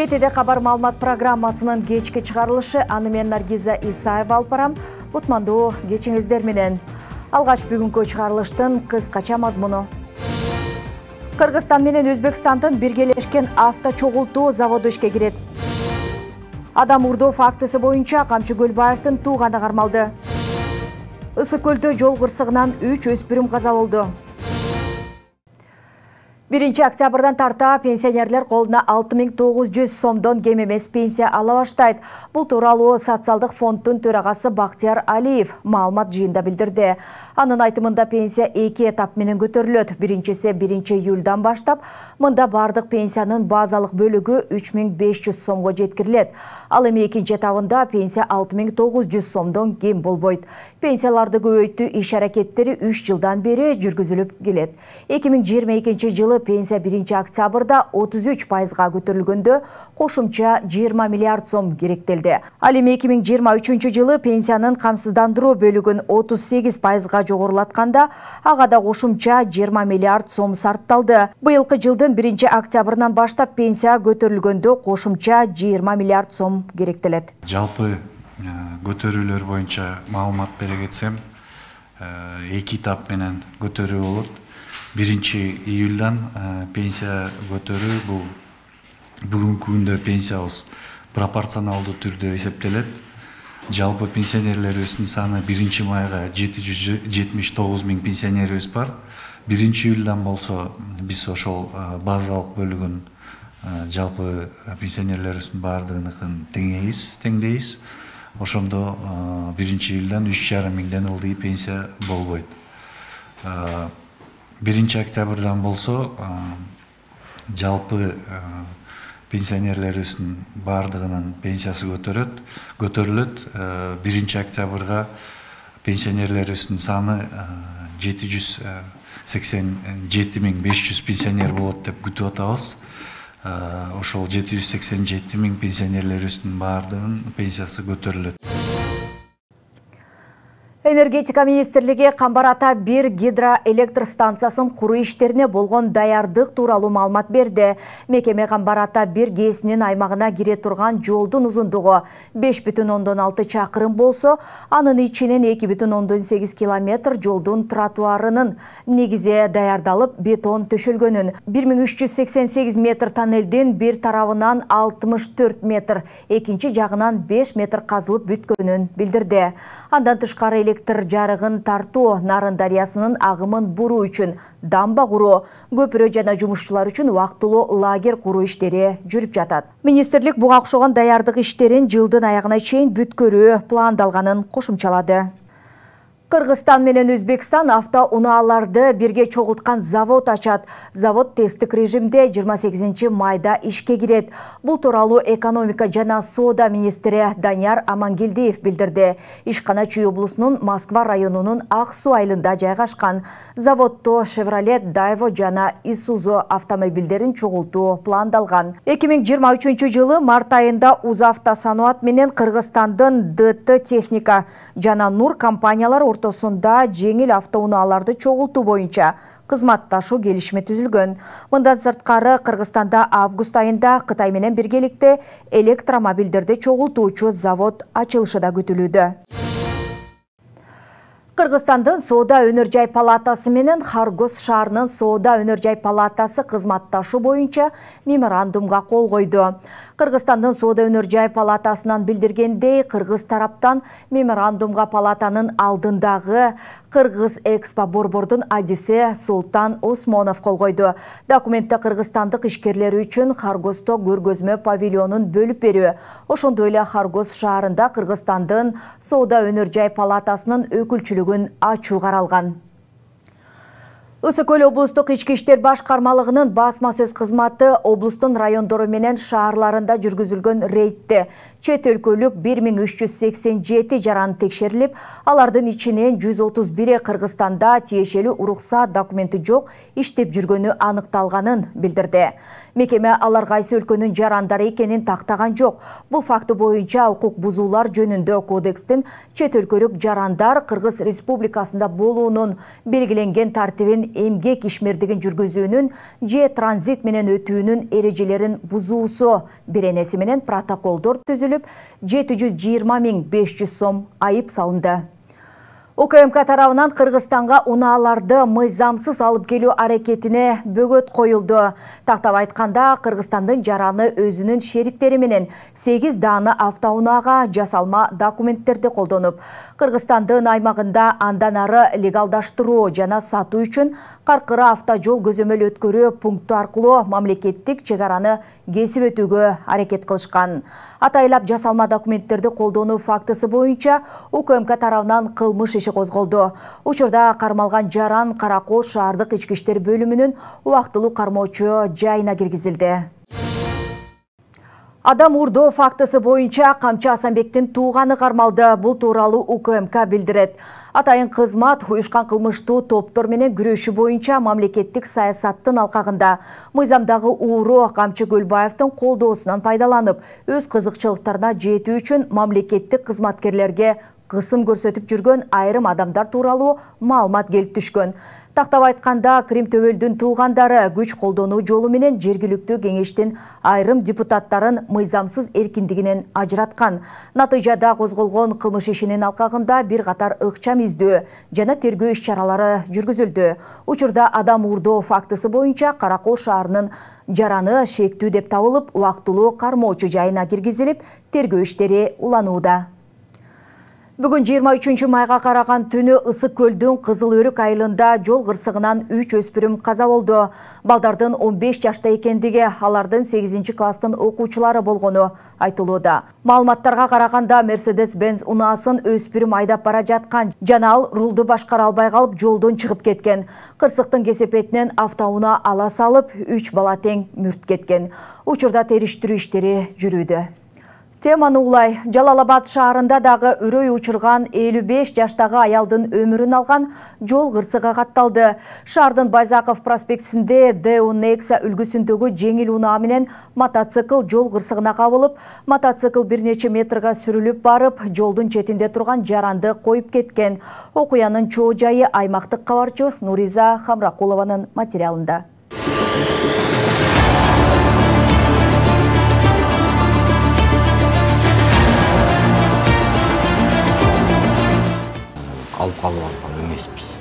Жетиде кабар маалымат программасынын кечки чыгарылышы, аны мен Наргиза Исаева алып барам. Кутмандуу кечиңиздер менен. Алгач бүгүнкү чыгарылыштын кыскача мазмуну. Кыргызстан менен Өзбекстандын биргелешкен авто чогултуу заводу ишке кирет. Адам урдоо фактысы боюнча Камчы Көлбаевдин тууганы кармалды. Ысык көлдө жол кырсыгынан 3 өспүрүм каза болду. 1 октябрдан тарта пенсионерлер колуна 6900 сомдон кем эмес пенсия ала баштайт. Бул тууралуу социалдык фонддун төрагасы Бактияр Алиев маалымат жыйында билдирди. Анын айтымында пенсия 2 этап менен көтөрүлөт. Биринчиси 1 июлдан баштап, мында бардык пенсиянын базалык бөлүгү 3500 сомго жеткирилет. Ал эми экинчи этабында пенсия 6900 сомдон кем болбойт. Пенсияларды көбөйтүү иш аракеттери 3 жылдан бери жүргүзүлүп келет. 2022 жылы пенсия 1 октябрда 33%га көтөрүлгөндө кошумча 20 миллиард сом керектелди. Ал эми 2023 жылы пенсиянын камсыздандыруу бөлүгүн 38%га жогорулатканда, ага да кошумча 20 миллиард сом сарпталды. Быйылкы жылдын 1 октябрынан баштап пенсия көтөрүлгөндө кошумча 20 миллиард сом керектелет. Жалпы көтөрүүлөр боюнча маалымат бере кетсем, 2 этап менен көтөрүү болот. 1 июлдан пенсия көтөрүү бул бүгүнкү күндө пенсиябыз пропорционалдуу түрдө эсептелет. Жалпы пенсионерлерибиздин саны 1 майга 779 000 пенсионерибиз бар. 1 июлдан болсо биз ошол базалык бөлүгүн жалпы пенсионерлерибиздин бардыгыныкын теңдейбиз. Ошондо 1 июлдан 3,5 миңден ылдый пенсия болбойт. 1 октябрдан болсо жалпы пенсионерлерибиздин бардыгынын пенсиясы көтөрүлөт. 1 октябрга пенсионерлерибиздин саны 787 500 пенсионер болот деп күтүп атабыз. Ошол 787 000 пенсионерлерибиздин бардыгынын пенсиясы көтөрүлөт. Энергетика министрлиги Камбар Ата 1 гидроэлектр станциясын куруу иштерине болгон даярдык тууралуу маалымат берди. Мекеме Камбар Ата 1 ГЭСинин аймагына кире турган жолдун узундугу 5,6 чакырым болсо, анын ичинен 2,8 километр жолдун тротуарынын негизи даярдалып, бетон төшөлгөнүн, 1388 метр тоннелдин бир тарабынан 64 метр, экинчи жагынан 5 метр казылып бүткөнүн билдирди. Андан тышкары электр жарыгын тартуу, Нарын дарыясынын агымын буруу үчүн дамба куруу, көпүрө жана жумушчулар үчүн убактылуу лагерь куруу иштери жүрүп жатат. Министрлик буга окшогон даярдык иштерин жылдын аягына чейин бүткөрүү пландалганын кошумчалады. Кыргызстан менен Өзбекстан автоунааларды бирге чогулткан завод ачат. Завод тесттик режимде 28 майда ишке кирет. Бул тууралуу экономика жана соода министри Данияр Амангелдиев билдирди. Ишкана Чүй облусунун Москва районунун Ак Суу айылында жайгашкан. Заводто Chevrolet, Daewoo жана Isuzu автомобилдерин чогултуу пландалган. 2023 жылы март айында Узавтосаноат менен Кыргызстандын ДТ Техника жана Нур компаниялар ортосунда жеңил автоунааларды чогултуу боюнча кызматташуу келишими түзүлгөн. Мындан сырткары Кыргызстанда август айында Кытай менен биргеликте электромобилдерди чогултуучу завод ачылышы да күтүлүүдө. Кыргызстандын Соода өнөр жай палатасы менен Харгос шаарынын Соода өнөр жай палатасы кызматташуу боюнча меморандумга кол койду. Кыргызстандын Соода өнөр жай палатасынан билдиргендей, кыргыз тараптан меморандумга палатанын алдындагы Кыргыз Экспо борбордун адиси Султан Осмонов кол койду. Документте кыргызстандык ишкерлер үчүн Харгосто көргөзмө павильонун бөлүп берүү, ошондой эле Харгос шаарында Кыргызстандын Соода өнөр жай палатасынын өкүлчүлүгүн ачуу каралган. Ысык көл облустук ички иштер башкармалыгынын басма сөз кызматы облустун райондору менен шаарларында жүргүзүлгөн рейдте Чет өлкөлүк 1387 жаран текшерилип, алардын ичинен 131 Кыргызстанда тиешелүү уруксат документи жок иштеп жүргөнү аныкталганын билдирди. Мекеме алар кайсы өлкөнүн жарандары экенин тактаган жок. Бул факты боюнча укук бузуулар жөнүндө кодекстин чет өлкөлүк жарандар Кыргыз Республикасында болуунун белгиленген тартибин, эмгек ишмердигин жүргүзүүнүн же транзит менен өтүүнүн эрежелерин бузуусу беренеси менен протоколдор түзүлүп, 720 500 сом айып салынды. УКМК тарабынан Кыргызстанга унааларды мыйзамсыз алып келүү аракетине бөгөт коюлду. Тактап айтканда, Кыргызстандын жараны өзүнүн шериктери менен 8 даана автоунаага жасалма документтерди колдонуп, Кыргызстандын аймагында андан ары легалдаштыруу жана сатуу үчүн Каркыра автожол көзөмөл өткөрүү пункту аркылуу мамлекеттик чек араны кесип өтүүгө аракет кылышкан. Атайлап жасалма документтерди колдонуу фактысы боюнча УКМК тарабынан кылмыш иши козголду. Учурда кармалган жаран Каракол шаардык ички иштер бөлүмүнүн убактылуу кармоочу жайына киргизилди. Адам урдоо фактысы боюнча Камчы Асанбектин тууганы кармалды. Бул тууралуу УКМК билдирет. Атайын кызмат уюшкан кылмыштуу топтор менен күрөшүү боюнча мамлекеттик саясаттын алкагында мыйзамдагы ууру Камчы Көлбаевдин колдоосунан пайдаланып, өз кызыкчылыктарына жетүү үчүн мамлекеттик кызматкерлерге кысым көрсөтүп жүргөн айрым адамдар тууралуу маалымат келип түшкөн. Тактап айтканда, Крим Төбөлдүн туугандары күч колдонуу жолу менен жергиликтүү кеңештин айрым депутаттарын мыйзамсыз эркиндигинен ажыраткан. Натыйжада козголгон кылмыш ишинин алкагында бир катар ыкчам издөө жана тергөө иш-чаралары жүргүзүлдү. Учурда адам урдоо фактысы боюнча Каракол шаарынын жараны шектүү деп табылып, убактылуу кармоочу жайына киргизилип, тергөө иштери уланууда. Бүгүн 23 майга караган түнү Ысык көлдүн Кызыл Өрүк айылында жол кырсыгынан 3 өспүрүм каза болду. Балдардын 15 жашта экендиги, алардын 8 класстын окуучулары болгону айтылууда. Маалыматтарга караганда Mercedes-Benz унаасын өспүрүм айдап бара жаткан жана ал рулду башкара албай калып жолдон чыгып кеткен. Кырсыктын кесепетинен автоунаа ала салып, 3 бала тең мүрт кеткен. Учурда териштирүү иштери жүрүүдө. Теманы улай, Жалал-Абад шаарында дагы үрөй учурган 55 жаштагы аялдын өмүрүн алган жол кырсыгы катталды. Шаардын Байзаков проспектисинде Deo Nexia үлгүсүндөгү жеңил унаа менен мотоцикл жол кырсыгына кабылып, мотоцикл бир нече метрга сүрүлүп барып, жолдун четинде турган жаранды коюп кеткен. Окуянын чоо жайы аймактык кабарчыбыз Нуриза Хамракулованын материалында. Алып калып алган эмеспиз.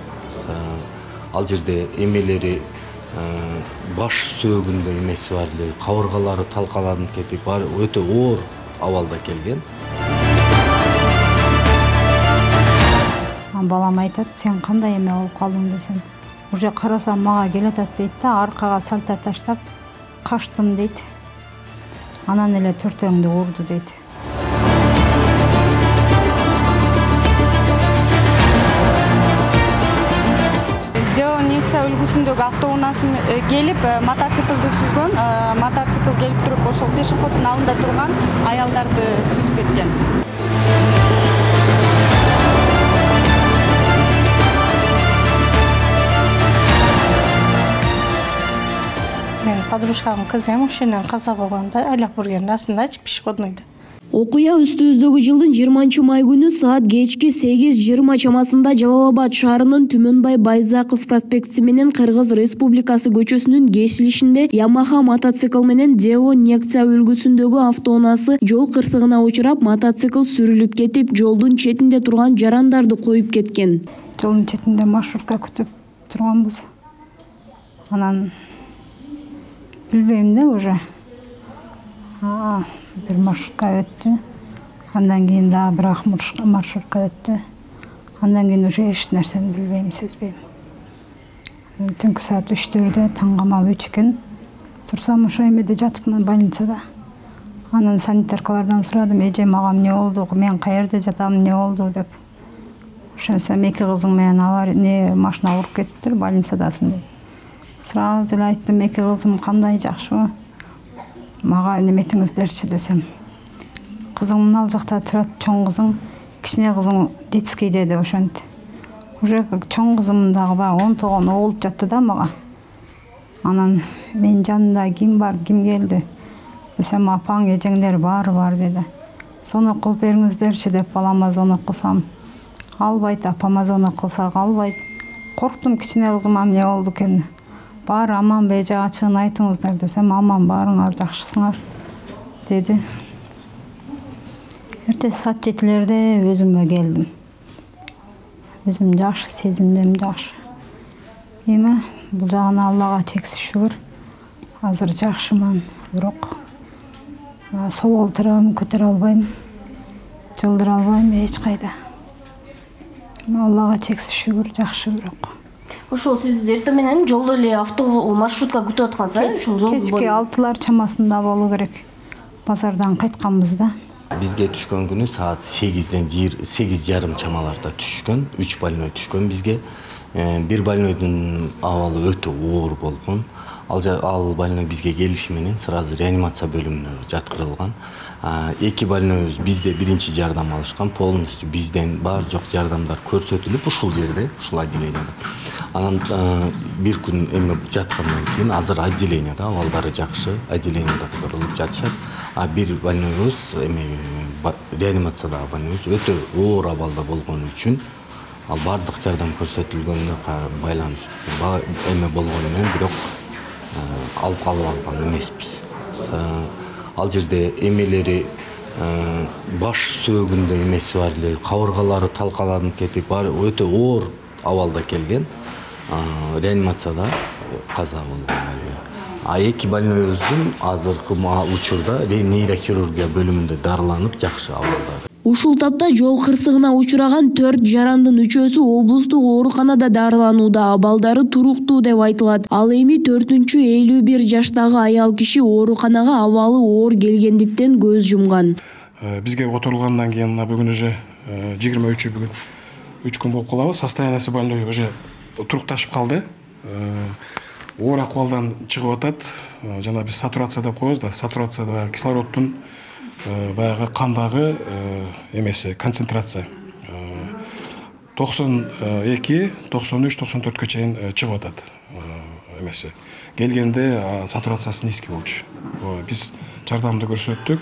Ал жерде эмелери баш сөөгүндө эмеси бар эле, кабыргалары талкаланып кетип, өтө оор абалда келген. Балам айтат, сен кандай эме болуп калдың десем, уже карасам мага келатат дейт да, аркага салта таштап качтым дейт. Анан эле төртөөңдү урду дейт. Үлгүсүндөгү автоунаасы келип мотоциклди сүзгөн, мотоцикл келип туруп ошол пешеходдун алдында турган аялдарды сүзүп кеткен. Мен подружкамдын кызы ошонун каза болгондо айлап бургенде астындачы пешеходнойдо. Окуя үстүбүздөгү жылдын 20 май күнү саат кечки 8:20 чамасында Жалал-Абад шаарынын Түмөнбай Байзаков проспектиси менен Кыргыз Республикасы көчөсүнүн кесилишинде Yamaha мотоцикл менен Deo Nexia үлгүсүндөгү автоунаасы жол кырсыгына учурап, мотоцикл сүрүлүп кетип, жолдун четинде турган жарандарды коюп кеткен. Жолдун четинде маршрутка күтүп турганбыз. Анан билбейм да уже. Bir маршрутка өттү. Андан кийин дагы бир маршрутка өттү. Андан кийин уже эч нерсени билбейм, сезбейм. Түнкү саат 3-төрдө таң камал 3 экен. Турсам ошо эмеде жатыпмын, больницада. Анан санитаркалардан сурадым, эже мага эмне болду, мен каерде жатам, эмне болду деп. Ошентсем эки кызың менен машина уруп кетиптир, больницадасың деп. Сразу эле айттым, эки кызым кандай, жакшыбы? Мага неметиңиздерчи десем. кызың ал жакта турат, чоң кызың, кичине кызың детскийде деп ошентти. Уже чоң кызым дагы баягы 10 тогон оолуп жатты да мага. Анан мен жанымда ким бар, ким келди десем, апаң, эжеңдер бар деди. Звонок кылып бериңиздерчи деп балама звонок кылсам, албайт, апама звонок кылсак албайт. Корктум, кичине кызыма эмне болду экен. Бар аман бе, ачыгын айтыңыздар десем, аман, барыңар, жакшысыңар деди. Эртеси саат 7-лерде өзүмө келдим. Өзүм жакшы сезимдим, жакшы. Эми бул жагына Аллага чексиз шүгүр. Азыр жакшыман, бирок сол олтурам, көтөрө албайм, жылдыра албайм эч кайда. Аллага чексиз шүгүр, жакшы бирок. Ошол сиз эртең менен жолдо эле автобус, маршрутка күтүп аткансыз, кечки 6-лар чамасында болуу керек. Базардан кайтканбыз да. Бизге түшкөн күнү саат 8:30 чамаларда түшкөн, 3 больной түшкөн бизге. Бир больнойдун абалы өтө оор болгон. Ал больной бизге келиши менен сразу реанимация бөлүмүнө жаткырылган. 2 больнойбуз бизде биринчи жардам алышкан, полностью бизден бар жок жардамдар көрсөтүлүп ушул жерде, ушул отделенияда. Анан бир күн эме жаткандан кийин азыр отделенияда абалдары жакшы, отделенияда которулуп жатышат. Бир больнойбуз реанимациядагы больнойбуз өтө оор абалда болгон үчүн ал бардык жардам көрсөтүлгөнүнө байланыштуу эме болгону менен бирок алып калып алган эмеспиз. Ал жерде эмелери баш сөөгүндө эмеси бар эле, кабыргалары талкаланып кетип, өтө оор абалда келген. Реанимацияда каза болгон больной. 2 больнойбуздун азыркы учурда нейрохирургия бөлүмүндө дарыланып жакшы абалда. Ушул тапта жол кырсыгына учураган 4 жарандын 3-өсү облустук ооруканада дарыланууда, абалдары туруктуу деп айтылат. Ал эми 4-51 жаштагы аял киши ооруканага абалы оор келгендиктен көз жумган. Бизге которулгандан кийин бүгүн уже 23 бүгүн 3 күн болуп калабы. Состояниясы больной уже турукташып калды. Оор акыбалдан чыгып атат. Жана биз сатурация деп коебуз да. Сатурацияда кислороддун баягы кандагы эмеси концентрация 92, 93, 94 чейин чыгып атат эмеси. Келгенде сатурациясы низкий болчу. Биз жардамды көрсөттүк.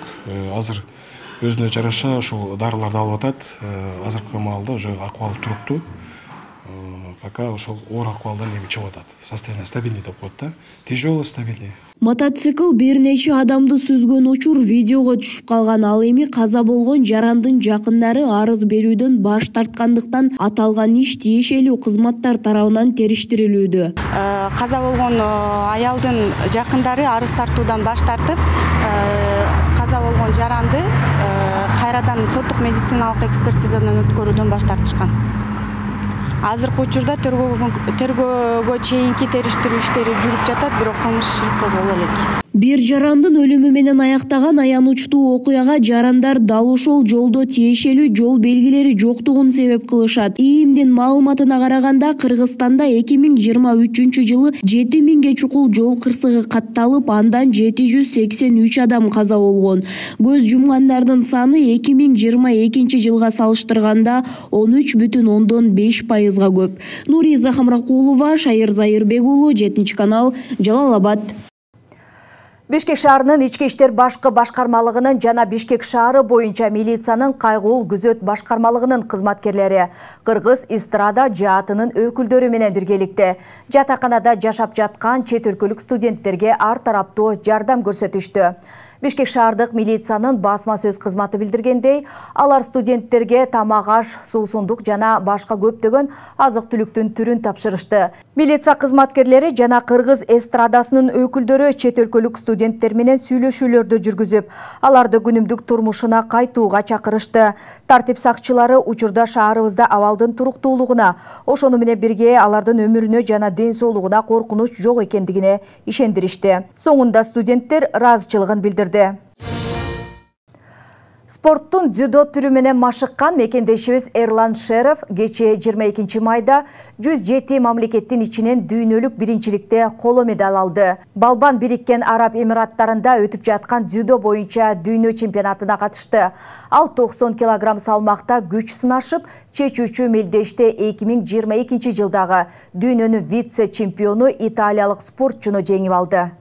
Азыр өзүнө жараша ушул дарыларды алып атат. Азыркы маалда уже акыбалы туруктуу. Пока ошол оор акыбалдан эми чыгып атат. Состояние стабильный деп коет да. Тяжелый, стабильный. Мотоцикл бир нече адамды сүзгөн учур видеого түшүп калган. Ал эми каза болгон жарандын жакындары арыз берүүдөн баш тарткандыктан аталган иш тиешелүү кызматтар тарабынан териштирилүүдө. Каза болгон аялдын жакындары арыз тартуудан баш тартып, каза болгон жаранды кайрадан соттук медициналык экспертизадан өткөрүүдөн баш тартышкан. Азыркы учурда тергөөгө чейинки териштирүү иштери жүрүп жатат, бирок кылмыш иши козголо элек. Бир жарандын өлүмү менен аяктаган аянычтуу окуяга жарандар дал ошол жолдо тиешелүү жол белгилери жоктугун себеп кылышат. ИИМдин маалыматына караганда Кыргызстанда 2023-жылы 7000ге чукул жол кырсыгы катталып, андан 783 адам каза болгон. Көз жумгандардын саны 2022-жылга салыштырганда 13,5%га көп. Нуриза Хамракулова, Шайыр Зайырбек уулу, 7-канал, Жалал-Абад. Бишкек шаарынын ички иштер башкы башкармалыгынын жана Бишкек шаары боюнча милициянын кайгыл күзөт башкармалыгынын кызматкерлери Кыргыз эстрада жаатынын өкүлдөрү менен биргеликте жатаканада жашап жаткан чет өлкөлүк студенттерге ар тараптуу жардам көрсөтүштү. Бишкек шаардык милициянын басма сөз кызматы билдиргендей, алар студенттерге тамак аш, суусундук жана башка көптөгөн азык-түлүктүн түрүн тапшырышты. Милиция кызматкерлери жана Кыргыз эстрадасынын өкүлдөрү чет өлкөлүк студенттер менен сүйлөшүүлөрдү жүргүзүп, аларды күнүмдүк турмушуна кайтууга чакырышты. Тартип сакчылары учурда шаарыбызда абалдын туруктуулугуна, ошону менен бирге алардын өмүрүнө жана ден соолугуна коркунуч жок экендигине ишендиришти. Соңунда студенттер ыраазычылыгын билдирди. Спорттун дзюдо түрү менен машыккан мекендешибиз Эрлан Шеров кечээ 22 майда 107 мамлекеттин ичинен дүйнөлүк биринчиликте коло медаль алды. Балбан Бириккен Араб Эмираттарында өтүп жаткан дзюдо боюнча дүйнө чемпионатына катышты. Ал 90 килограмм салмакта күч сынашып, чечүүчү мелдеште 2022 жылдагы дүйнөнүн вице-чемпиону италиялык спортчуну жеңип алды.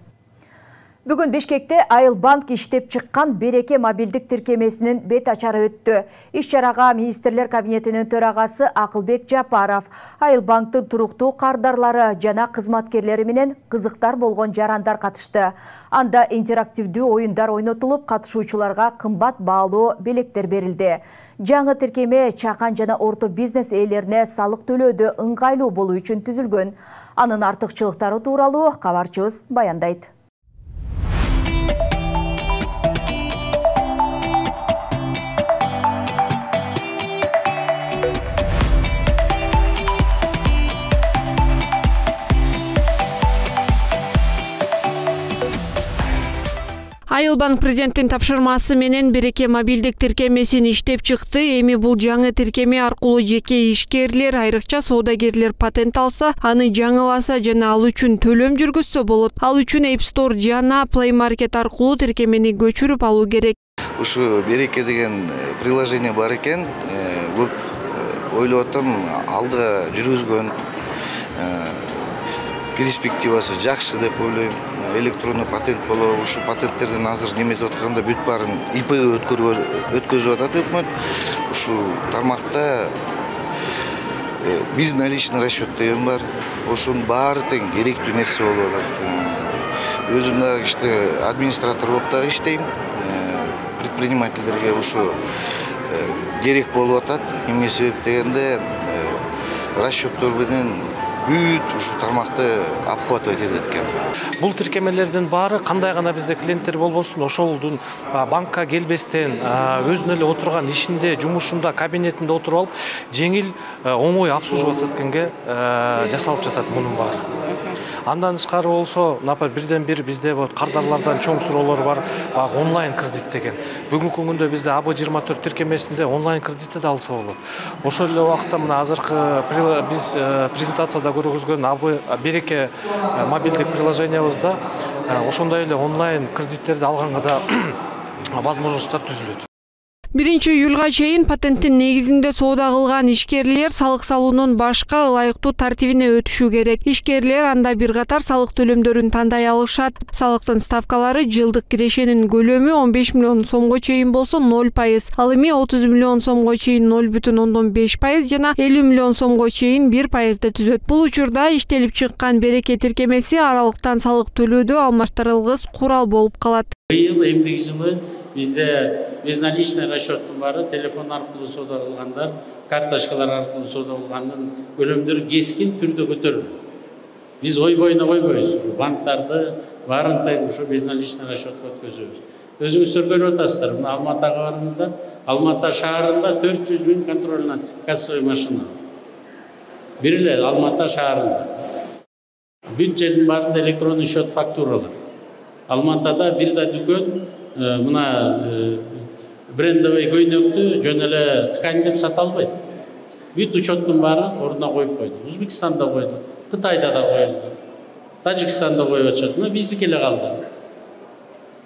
Бүгүн Бишкекте Айылбанк иштеп чыккан Береке мобилдик тиркемесинин бет ачары өттү. Иш-чарага министрлер кабинетинин төрагасы Акылбек Жапаров, Айылбанктын туруктуу кардарлары жана кызматкерлери менен кызыктар болгон жарандар катышты. Анда интерактивдүү оюндар ойнотулуп, катышуучуларга кымбат баалуу белектер берилди. Жаңы тиркеме чакан жана орто бизнес ээлерине салык төлөөдө ыңгайлуу болуу үчүн түзүлгөн. Анын артыкчылыктары тууралуу кабарчыбыз баяндайт. Айылбанк президенттин тапшырмасы менен Береке мобилдик тиркемесин иштеп чыкты. Эми бул жаңы тиркеме аркылуу жеке ишкерлер, айрыкча соодагерлер патент алса, аны жаңыласа жана ал үчүн төлөм жүргүзсө болот. Ал үчүн App Store жана Play Market аркылуу тиркемени көчүрүп алуу керек. Ушу Береке деген приложение бар экен. Көп ойлоп атам, алдыга жүргүзгөн перспективасы жакшы деп ойлойм. Электрондуу патент болобу, ушу патенттерден азыр неметип атканда бүт баарын ИП өткөзүп атат өкмөт. Ушу тармакта безналичный расчет деген бар. Ошонун баары тең керектүү нерсе болуп атат. Өзүм дагы иште администратор болуп дагы иштейм. Предпринимательдерге ушу керек болуп атат. Эмне себеп дегенде расчеттор менен бүт ушу тармакты обхватывать этет экен. Бул тиркемелердин баары кандай гана бизде клиенттер болбосун, ошолдун банкка келбестен өзүнө эле отурган ишинде, жумушунда, кабинетинде отуруп алып, жеңил, оңой обслуживаться эткенге жасалып жатат мунун баары. Андан тышкары болсо, например, бирден бир бизде кардарлардан чоң суроолор бар, баягы онлайн кредит деген. Бүгүнкү күндө бизде АБ24 тиркемесинде онлайн кредитти да алса болот. Ошол эле убакта мына азыркы биз презентацияда көргөзгөн Береке мобилдик приложениябызда ошондой эле онлайн кредиттерди алганга да возможностьтор түзүлөт. 1-июлга чейин патенттин негизинде соода кылган ишкерлер салык салуунун башка ылайыктуу тартибине өтүшү керек. Ишкерлер анда бир катар салык төлөмдөрүн тандай алышат. Салыктын ставкалары жылдык кирешенин көлөмү 15 миллион сомго чейин болсо 0%, ал эми 30 миллион сомго чейин 0,5% жана 50 миллион сомго чейин 1%. түзөт. Бул учурда иштелип чыккан Береке тиркемеси аралыктан салык төлөөдө алмаштырылгыс курал болуп калат. Быйыл эмдиги жылы бизде безналичный расчеттун баары телефон аркылуу соода кылгандар, карточкалар аркылуу соода кылгандын көлөмдөрү кескин түрдө көтөрүлдү. Биз ой боюна койбойбуз. Банктарды баарын тең ушу безналичный расчетко өткөзөбүз. Өзүңүздөр көрүп атасыздар, мына Алматыга барыңыздар. Алматы шаарында 400 000 контрольный кассовый машина. Бир эле Алматы шаарында. Бүт жердин баарында электронный счет фактуралар. Алматыда бир да дүкөн мына брендовый көйнөктү жөн эле ткань деп сата албайт. Бүт учеттун баары ордуна коюп койду. Өзбекстанда койду, Кытайда да коюлду, Тажикстанда коюп атышат. Мына биздики эле калды.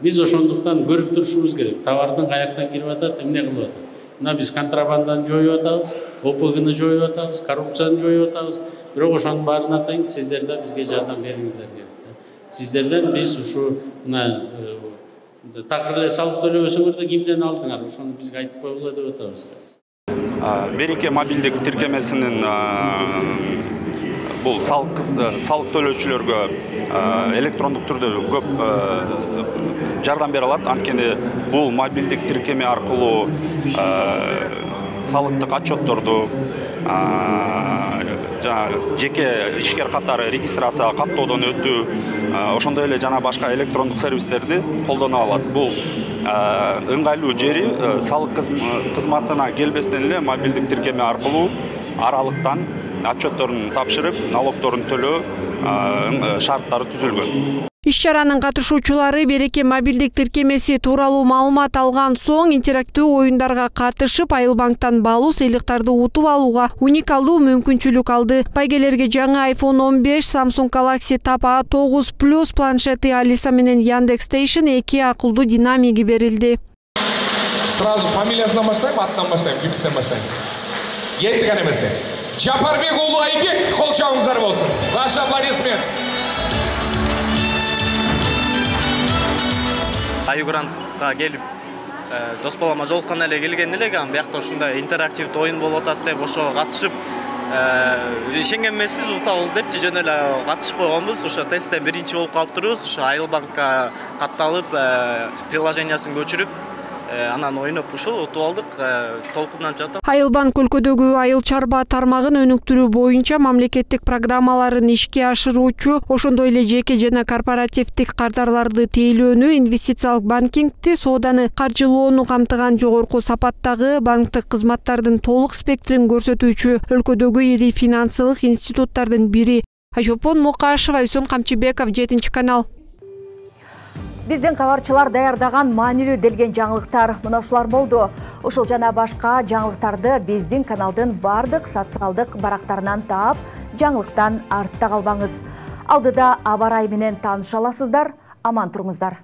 Биз ошондуктан көрүп турушубуз керек. Товардын каяктан кирип атат, эмне кылып атат. Мына биз контрабанданы жоюп атабыз, ОПГны жоюп атабыз, коррупцияны жоюп атабыз. Бирок ошонун баарына тең сиздер да бизге жардам бериңиздер керек. Сиздерден биз ушу мына такыр эле салык төлөбөсөңөр да кимден алдыңар, ошону бизге айтып койгула деп атабыз. Береке мобилдик тиркемесинин бул салык төлөөчүлөргө электрондук түрдө көп жардам бере алат. Анткени бул мобилдик тиркеме аркылуу салыктык отчетторду жеке ишкер катары регистрацияга каттоодон өтүү, ошондой эле жана башка электрондук сервистерди колдоно алат. Бул ыңгайлуу жери салык кызматына келбестен эле мобилдик тиркеме аркылуу аралыктан отчетторун тапшырып, налогдорун төлөө шарттары түзүлгөн. Иш-чаранын катышуучулары Береке мобилдик тиркемеси тууралуу маалымат алган соң интерактивдүү оюндарга катышып, Айыл банктан баалуу сыйлыктарды утуп алууга уникалдуу мүмкүнчүлүк алды. Байгелерге жаңы iPhone 15, Samsung Galaxy Tab A9 Plus планшети, Alisa менен Яндекс Station 2 акылдуу динамиги берилди. Сразу фамилиясынан баштайм, аттан баштайм, кимден баштайм? Кеттик аны эмесе. Жапарбек уулу Айбек, кол чабыңыздар болсун. Ваш аплодисмент. Аюгрантка келип, дос балама жолуккан эле келген элек, биякта ушундай интерактивдүү оюн болуп атат деп ошого катышып, ишенген эмеспиз, утабыз депчи жөн эле катышып койгонбуз. Ошо тесттен биринчи болуп калыптырбыз. Ошо Айыл банкка катталып, приложениясын көчүрүп, анан ойноп ушул утуп алдык, толкундан жатат. Айыл банк өлкөдөгү айыл чарба тармагын өнүктүрүү боюнча мамлекеттик программаларын ишке ашыруучу, ошондой эле жеке жана корпоративдик кардарларды тейлөөнү, инвестициялык банкингти, сооданы каржылоону камтыган жогорку сапаттагы банктык кызматтардын толук спектрин көрсөтүүчү өлкөдөгү ири финансылык институттардын бири. Айшолпон Мокашева, Айсон Камчыбеков, 7-канал. Биздин кабарчылар даярдаган маанилүү делген жаңылыктар мына ушулар болду. Ушул жана башка жаңылыктарды биздин каналдын бардык социалдык барактарынан таап, жаңылыктан артта калбаңыз. Алдыда аба ырайы менен тааныша аласыздар. Аман туруңуздар.